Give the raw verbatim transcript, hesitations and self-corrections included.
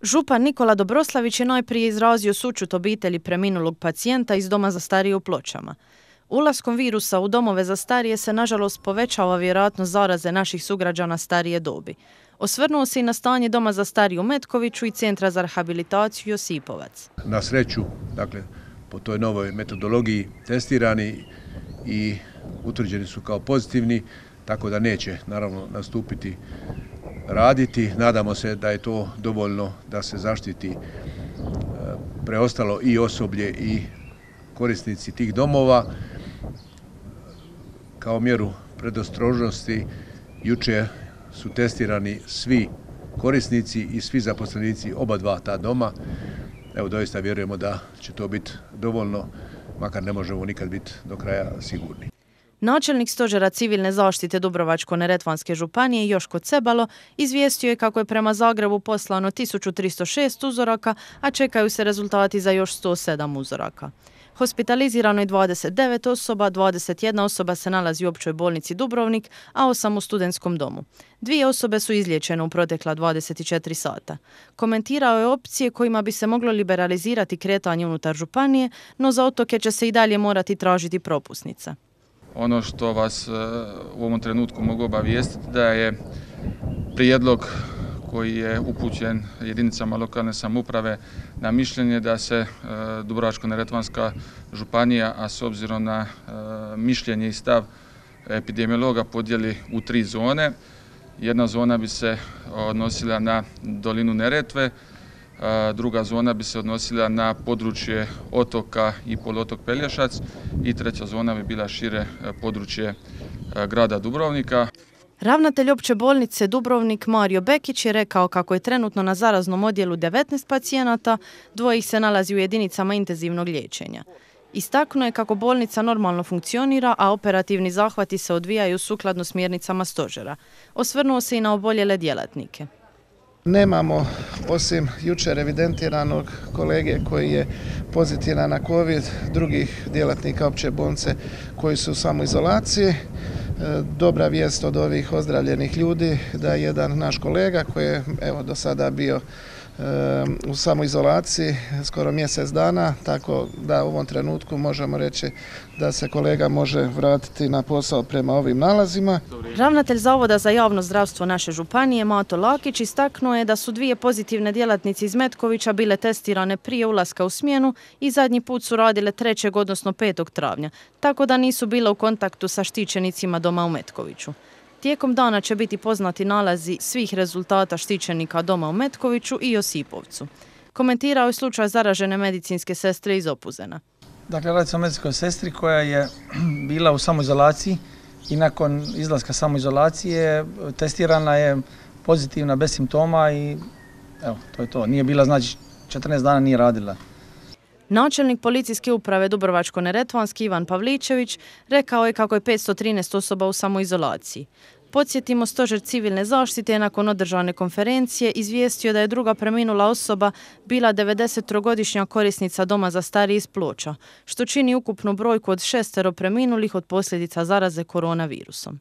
Župan Nikola Dobroslavić je najprije izrazio sućut obitelji preminulog pacijenta iz Doma za starije u Pločama. Ulaskom virusa u domove za starije se nažalost povećava vjerojatnost zaraze naših sugrađana starije dobi. Osvrnuo se i na stanje Doma za starije u Metkoviću i Centra za rehabilitaciju Josipovac. Na sreću, dakle, po toj novoj metodologiji testirani i utvrđeni su kao pozitivni, tako da neće naravno nastupiti raditi. Nadamo se da je to dovoljno da se zaštiti preostalo i osoblje i korisnici tih domova. Kao mjeru predostrožnosti jučer su testirani svi korisnici i svi zaposlenici oba dva ta doma. Evo, doista vjerujemo da će to biti dovoljno, makar ne možemo nikad biti do kraja sigurni. Načelnik Stožera civilne zaštite Dubrovačko-neretvanske županije Joško Cebalo izvijestio je kako je prema Zagrebu poslano tisuću tristo šest uzoraka, a čekaju se rezultati za još sto sedam uzoraka. Hospitalizirano je dvadeset devet osoba, dvadeset jedna osoba se nalazi u općoj bolnici Dubrovnik, a osam u studentskom domu. Dvije osobe su izliječene u protekla dvadeset četiri sata. Komentirao je opcije kojima bi se moglo liberalizirati kretanje unutar županije, no za otoke će se i dalje morati tražiti propusnica. Ono što vas u ovom trenutku mogu obavijestiti da je prijedlog koji je upućen jedinicama lokalne samouprave na mišljenje da se Dubrovačko-neretvanska županija, a s obzirom na mišljenje i stav epidemiologa, podijeli u tri zone. Jedna zona bi se odnosila na dolinu Neretve, druga zona bi se odnosila na područje otoka i poluotok Pelješac i treća zona bi bila šire područje grada Dubrovnika. Ravnatelj opće bolnice Dubrovnik Mario Bekić je rekao kako je trenutno na zaraznom odjelu devetnaest pacijenata, dvoje ih se nalazi u jedinicama intenzivnog liječenja. Istaknuo je kako bolnica normalno funkcionira, a operativni zahvati se odvijaju sukladno smjernicama stožera. Osvrnuo se i na oboljele djelatnike. Nemamo, osim jučer evidentiranog kolege koji je pozitivan na COVID, drugih djelatnika opće bolnice koji su u samoizolaciji. Dobra vijest od ovih ozdravljenih ljudi da je jedan naš kolega koji je evo do sada bio u samoizolaciji skoro mjesec dana, tako da u ovom trenutku možemo reći da se kolega može vratiti na posao prema ovim nalazima. Ravnatelj Zavoda za javno zdravstvo naše županije Mato Lakić istaknuo je da su dvije pozitivne djelatnice iz Metkovića bile testirane prije ulaska u smjenu i zadnji put su radile trećeg odnosno petog travnja, tako da nisu bile u kontaktu sa štićenicima doma u Metkoviću. Tijekom dana će biti poznati nalazi svih rezultata štićenika doma u Metkoviću i Josipovcu. Komentirao je slučaj zaražene medicinske sestre iz Opuzena. Dakle, radi se o medicinskoj sestri koja je bila u samoizolaciji i nakon izlaska samoizolacije testirana je pozitivna bez simptoma i evo, to je to. Nije bila, znači, četrnaest dana nije radila. Načelnik policijske uprave Dubrovačko-neretvanski Ivan Pavličević rekao je kako je petsto trinaest osoba u samoizolaciji. Podsjetimo, Stožer civilne zaštite je nakon održane konferencije izvijestio da je druga preminula osoba bila devedesettrogodišnja korisnica Doma za starije iz Ploča, što čini ukupnu brojku od šestero preminulih od posljedica zaraze koronavirusom.